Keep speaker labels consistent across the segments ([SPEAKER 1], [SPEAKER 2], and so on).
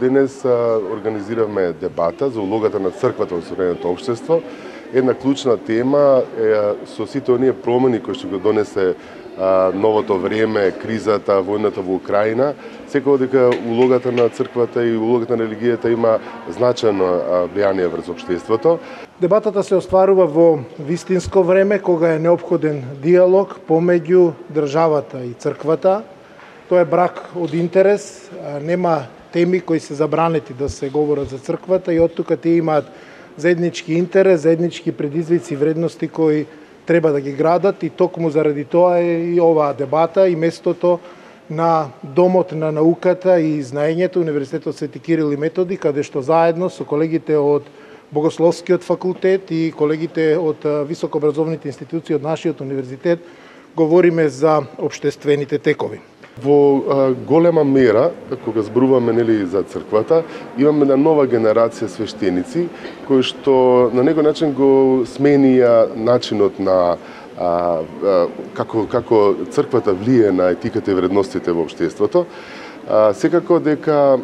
[SPEAKER 1] Денес организиравме дебата за улогата на црквата во современото општество. Една клучна тема со сите оние промени кои што го донесе новото време, кризата, војната во Украина, секако дека улогата на црквата и улогата на религијата има значајно влијание врз општеството.
[SPEAKER 2] Дебатата се остварува во вистинско време, кога е неопходен диалог помеѓу државата и црквата. Тоа е брак од интерес, нема теми кои се забранети да се говорат за црквата и оттука тие имаат заеднички интерес, заеднички предизвици и вредности кои треба да ги градат и токму заради тоа е и оваа дебата и местото на Домот на науката и знаењето Универзитетот Свети Кирил и Методи, каде што заедно со колегите од Богословскиот факултет и колегите од високообразовните институции од нашиот универзитет говориме за општествените текови.
[SPEAKER 1] Во голема мера, кога зборуваме за црквата, имаме една нова генерација свештеници кои што на некој начин го сменија начинот на како црквата влие на етиката и вредностите во општеството. Секако дека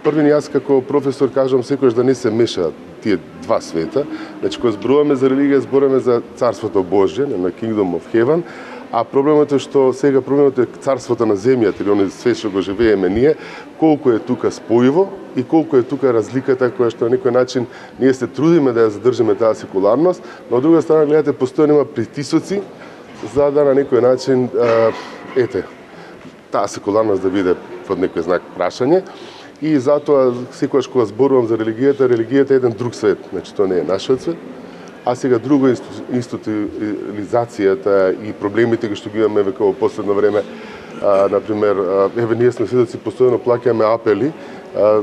[SPEAKER 1] првин јас како професор кажам секогаш да не се мешаат тие два света. Значи кога зборуваме за религија, зборуваме за Царството Божје, на Kingdom of Heaven. А проблемот е што сега проблемот е царството на земјата или оној свет што го живееме ние, колку е тука спојиво и колку е тука разликата која што на некој начин ние се трудиме да ја задржиме таа секуларност, но од друга страна гледате постојано има притисоци за да на некој начин таа секуларност да биде под некој знак прашање. И затоа секогаш кога зборувам за религијата, религијата е еден друг свет, значи тоа не е нашиот свет. А сега друго институциализацијата и проблемите кои што ги имаме веќе во последно време, например, ние сме сведоци постојано плаќаме апели,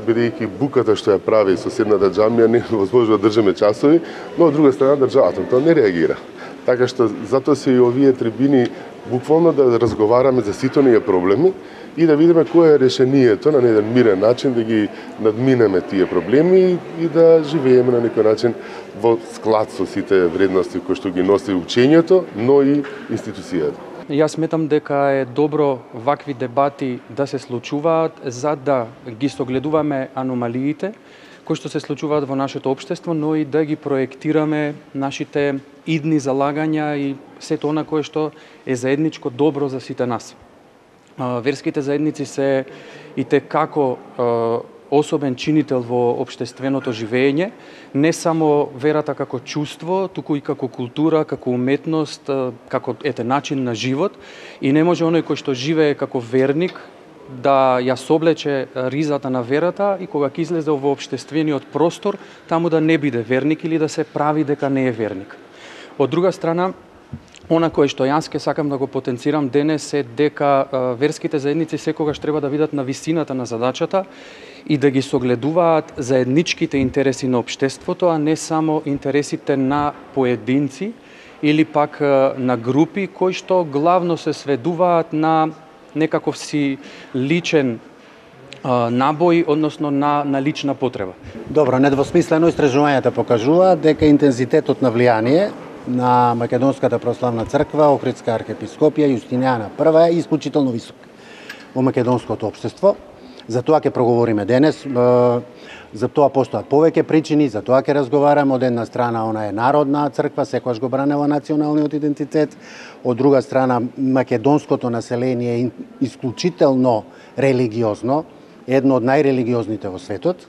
[SPEAKER 1] бидејќи буката што ја прави соседната џамија не возможно да држиме часови, но од друга страна државата тоа не реагира. Така што затоа се и овие трибини буквално да разговараме за сите оние проблеми и да видиме кое е решението на еден мирен начин да ги надминеме тие проблеми и да живееме на некој начин во склад со сите вредности кои што ги носи учењето, но и институцијата.
[SPEAKER 3] Јас сметам дека е добро вакви дебати да се случуваат за да ги согледуваме аномалиите кои што се случуваат во нашето општество, но и да ги проектираме нашите идни залагања и сето она кое што е заедничко добро за сите нас. Верските заедници се и како особен чинител во општественото живење, не само верата како чувство, туку и како култура, како уметност, како начин на живот и не може оној кој што живее како верник да ја соблече ризата на верата и кога ќе излезе во општествениот простор, таму да не биде верник или да се прави дека не е верник. Од друга страна, она кое што јас ке сакам да го потенцирам денес е дека верските заедници секогаш треба да видат на висината на задачата и да ги согледуваат заедничките интереси на општеството, а не само интересите на поединци или пак на групи кои што главно се сведуваат на некаков си личен набој, односно на лична потреба.
[SPEAKER 4] Добро, недвосмислено истражувањата покажуваат дека интензитетот на влијание на Македонската православна црква, Охридска архиепископија, Јустинијана I е исклучително висок во македонското општество. За тоа ќе проговориме денес. За тоа постојат повеќе причини, за тоа ќе разговараме. Од една страна, она е народна црква, секогаш го бранела националниот идентитет. Од друга страна, македонското население е исклучително религиозно, едно од најрелигиозните во светот.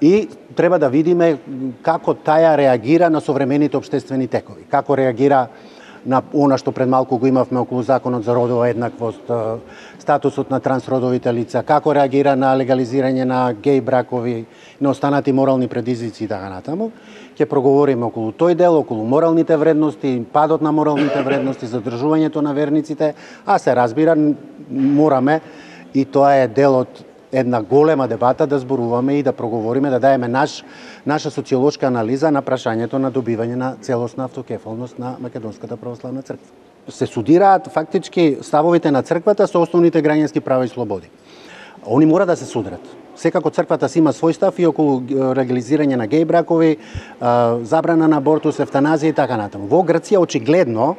[SPEAKER 4] И треба да видиме како таја реагира на современите општествени текови, како реагира на она што пред малку го имавме околу законот за родова еднаквост, статусот на трансродовите лица, како реагира на легализирање на геј бракови, на останати морални предизвици и така натаму. Ќе проговориме околу тој дел, околу моралните вредности, падот на моралните вредности, задржувањето на верниците, а се разбира мораме и тоа е дел од една голема дебата да зборуваме и да проговориме, да даеме наша социолошка анализа на прашањето на добивање на целосна автокефалност на Македонската православна црква. Се судираат фактички ставовите на црквата со основните граѓански права и слободи. Они мора да се судрат. Секако црквата си има свој став и околу легализирање на геј бракови, забрана на абортус, евтаназија и така натаму. Во Грција очигледно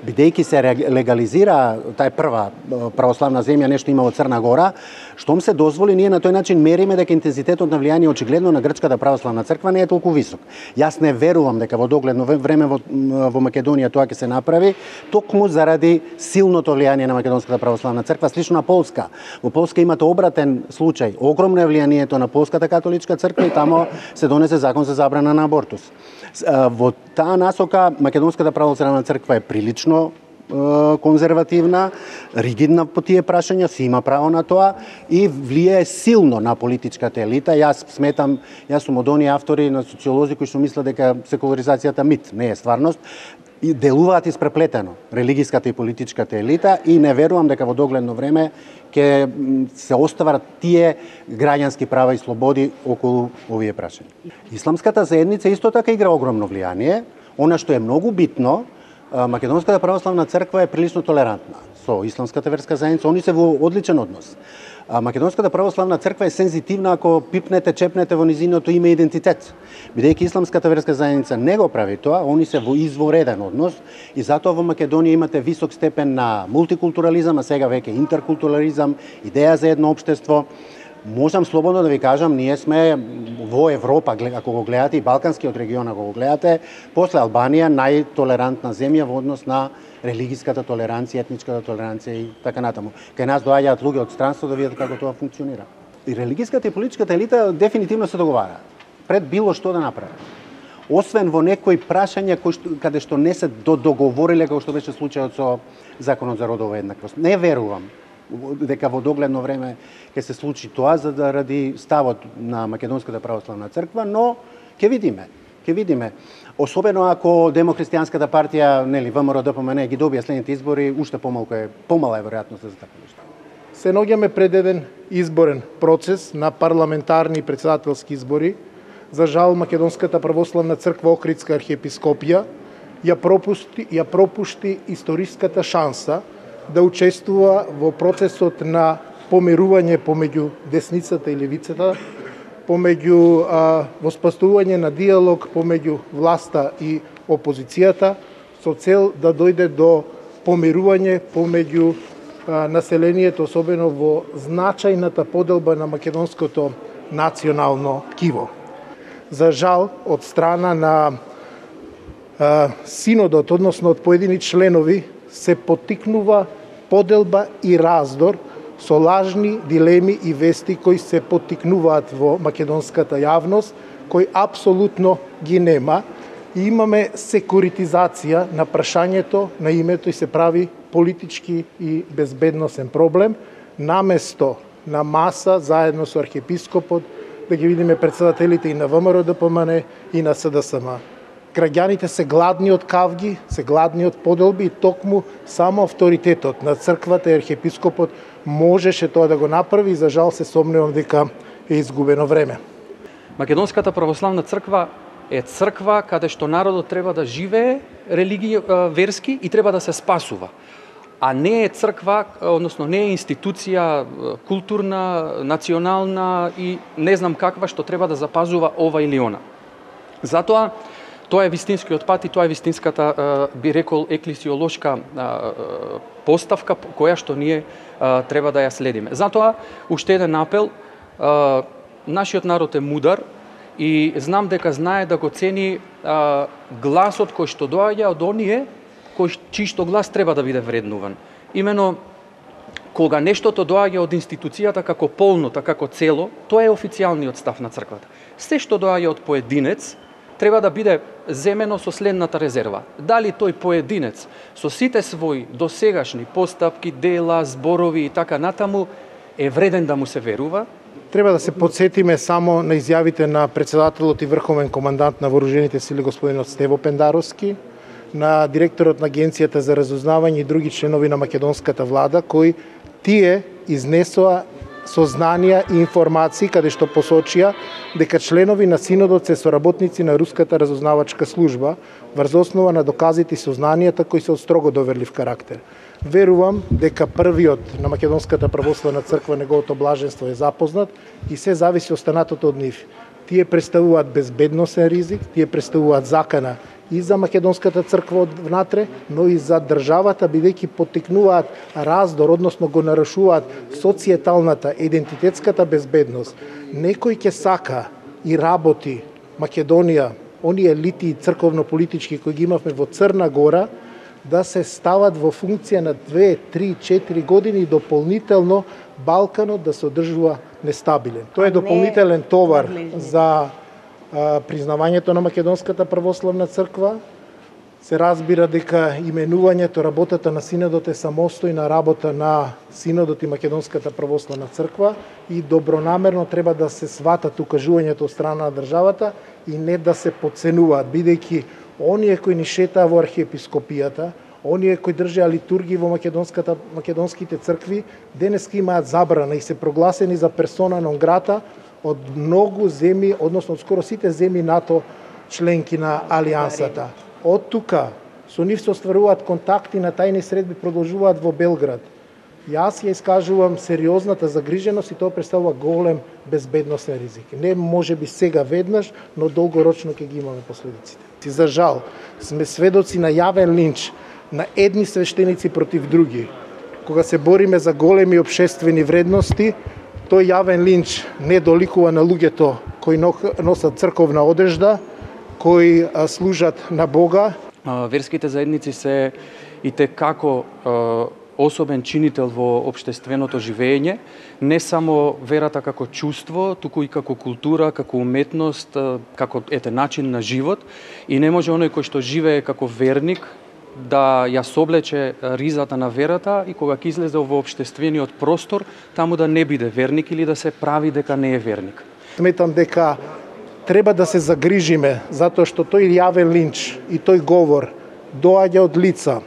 [SPEAKER 4] бидејќи се легализира тај прва православна земја, нешто има од Црна Гора, штом се дозволи, ние на тој начин мериме дека интензитетот на влијание очигледно на грчката православна црква не е толку висок. Јас не верувам дека во догледно време во Македонија тоа ќе се направи, токму заради силното влијание на македонската православна црква, слично на Полска. Во Полска имате обратен случај, огромно е влијанието на полската католичка црква и тамо се донесе закон за забрана на абортус. Во таа насока македонската православна црква е прилично конзервативна, ригидна по тие прашања, си има право на тоа и влијае силно на политичката елита. Јас сум од оние автори на социолози кои што мислат дека секуларизацијата мит, не е стварност, и делуваат испреплетено религиската и политичката елита и не верувам дека во догледно време ќе се остават тие граѓански права и слободи околу овие прашања. Исламската заедница исто така игра огромно влијание. Она што е многу битно, македонската православна црква е прилично толерантна со исламската верска заедница, они се во одличен однос. Македонската православна црква е сензитивна ако пипнете, чепнете во низиното име идентитет. Бидејќи исламската верска заедница не го прави тоа, они се во извореден однос и затоа во Македонија имате висок степен на мултикултурализам, а сега веќе интеркултурализам, идеја за едно општество. Можам слободно да ви кажам, ние сме во Европа, ако го гледате и балканскиот регион, ако го гледате, после Албанија најтолерантна земја во однос на религиската толеранција, етничката толеранција и така натаму. Кај нас доаѓаат луѓе од странство да видат како тоа функционира. И религиската и политичката елита дефинитивно се договараат пред било што да направат. Освен во некои прашања каде што не се договориле, како што беше случајот со законот за родова еднаквост. Не верувам дека во догледно време ќе се случи тоа заради ставот на македонската православна црква, но ќе видиме. Особено ако Демохристијанската партија, ВМРО ДПМН ги добија следните избори, уште помала е веројатноста за така нешто.
[SPEAKER 2] Се наоѓаме пред еден изборен процес на парламентарни и претседателски избори. За жал, Македонската православна црква Охридска архиепископија ја пропушти историската шанса да учествува во процесот на помирување помеѓу десницата и левицата, помеѓу воспоставување на диалог помеѓу власта и опозицијата, со цел да дојде до помирување помеѓу населението, особено во значајната поделба на македонското национално ткиво. За жал, од страна на синодот, односно од поедини членови, се поттикнува поделба и раздор со лажни дилеми и вести кои се поттикнуваат во македонската јавност, кои апсолутно ги нема. И имаме секуритизација на прашањето на името и се прави политички и безбедносен проблем, наместо на маса заедно со архиепископот да ги видиме претседателите и на ВМРО ДПМН и на СДСМ. Граѓаните се гладни од кавги, се гладни од поделби и токму само авторитетот на црквата и архиепископот можеше тоа да го направи и за жал се сомневам дека е изгубено време.
[SPEAKER 3] Македонската православна црква е црква каде што народот треба да живее верски и треба да се спасува. А не е црква, односно не е институција културна, национална и не знам каква што треба да запазува ова или она. Затоа тоа е вистинскиот пат и тоа е вистинската, би рекол, еклесиолошка поставка која што ние треба да ја следиме. Затоа, уште еден апел, нашиот народ е мудар и знам дека знае да го цени гласот кој што доаѓа од оние чиј што глас треба да биде вреднуван. Имено, кога нештото доаѓа од институцијата како полнота, како цело, тоа е официјалниот став на црквата. Се што доаѓа од поединец, треба да биде земено со следната резерва. Дали тој поединец со сите своји досегашни постапки, дела, зборови и така натаму е вреден да му се верува?
[SPEAKER 2] Треба да се подсетиме само на изјавите на претседателот и врховен командант на вооружените сили господинот Стево Пендаровски, на директорот на Агенцијата за разузнавање и други членови на македонската влада, кои тие изнесоа сознанија и информации каде што посочија дека членови на синодот се соработници на руската разузнавачка служба врз основа на доказите и сознанијата кои се од строго доверлив карактер. Верувам дека првиот на Македонската православна црква, неговото блаженство, е запознат и се зависи останатото од нив. Тие представуваат безбедносен ризик, тие представуваат закана и за македонската црква внатре, но и за државата, бидејќи поттикнуваат раздор, односно го нарушуваат социјеталната, идентитетската безбедност. Некој ќе сака и работи Македонија, оние елити и црковно-политички кои ги имавме во Црна Гора, да се стават во функција на 2, 3, 4 години и дополнително Балканот да се одржува нестабилен. Тоа е дополнителен товар за признавањето на Македонската православна црква. Се разбира дека именувањето, работата на Синодот е самостојна работа на Синодот и Македонската православна црква и добронамерно треба да се сватат укажувањето од страна на државата и не да се подценуваат, бидејќи оние кои ни шетаа во архиепископијата, оние кои држеа литургии во македонските цркви, денеска имаат забрана и се прогласени за персона нон грата од многу земји, односно од скоро сите земји НАТО членки на Алијансата. Од тука со нив се остваруваат контакти, на тајни средби продолжуваат во Белград. Јас ја искажувам сериозната загриженост и тоа представува голем безбедносен ризик. Не може би сега веднаш, но долгорочно ќе ги имаме последиците. За жал, сме сведоци на јавен линч на едни свештеници против други. Кога се бориме за големи општествени вредности, тој јавен линч не доликува на луѓето кои носат црковна одежда, кои служат на Бога.
[SPEAKER 3] Верските заедници се и како особен чинител во општественото живење, не само верата како чувство, туку и како култура, како уметност, како начин на живот, и не може оној кој што живее како верник да ја соблече ризата на верата и кога ќе излезе во општествениот простор, таму да не биде верник или да се прави дека не е верник.
[SPEAKER 2] Сметам дека треба да се загрижиме, затоа што тој јавен линч и тој говор доаѓа од лица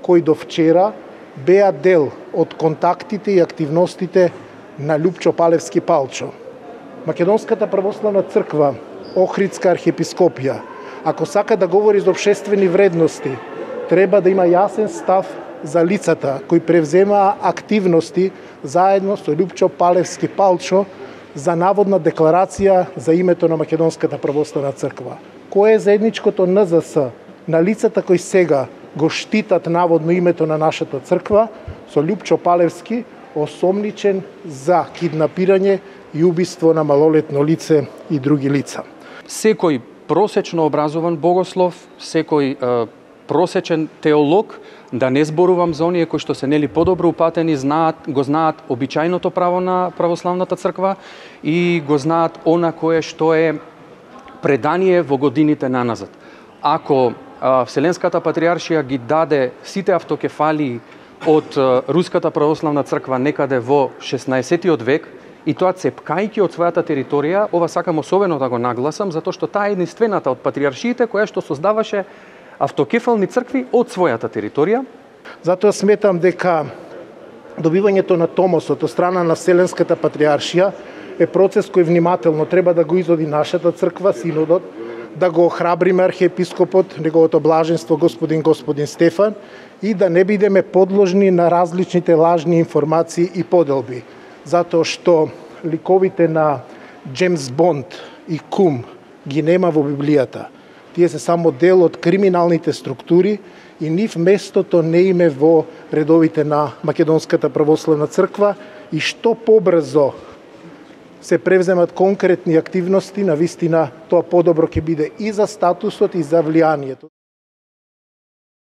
[SPEAKER 2] кои до вчера беа дел од контактите и активностите на Љупчо Палевски Палчо. Македонската православна црква, Охридска архиепископија, ако сака да говори за општествени вредности, треба да има јасен став за лицата кои превземаа активности заедно со Љупчо Палевски Палчо за наводна декларација за името на Македонската православна црква. Кој е заедничкото НЗС на лицата кои сега го штитат наводно името на нашата црква со Љупчо Палевски, осомничен за киднапирање и убиство на малолетно лице и други лица.
[SPEAKER 3] Секој просечно образован богослов, секој просечен теолог, да не зборувам за оние кои што се подобро упатени, го знаат обичајното право на православната црква и го знаат она кое што е предание во годините наназад. Ако Вселенската патриаршија ги даде сите автокефалии од Руската православна црква некаде во 16-тиот век, и тоа цепкајќи од својата територија, ова сакам особено да го нагласам, затоа што таа е единствената од патриаршиите која што создаваше автокефални цркви од својата територија.
[SPEAKER 2] Затоа сметам дека добивањето на томосот од страна на Вселенската патриаршија е процес кој внимателно треба да го изоди нашата црква, Синодот, да го охрабриме архиепископот, неговото блаженство господин Стефан, и да не бидеме подложни на различните лажни информации и поделби. Затоа што ликовите на Джеймс Бонд и Кум ги нема во Библијата. Тие се само дел од криминалните структури и нив местото не име во редовите на Македонската православна црква, и што побрзо се превземат конкретни активности, навистина тоа подобро ќе биде и за статусот и за влијанието.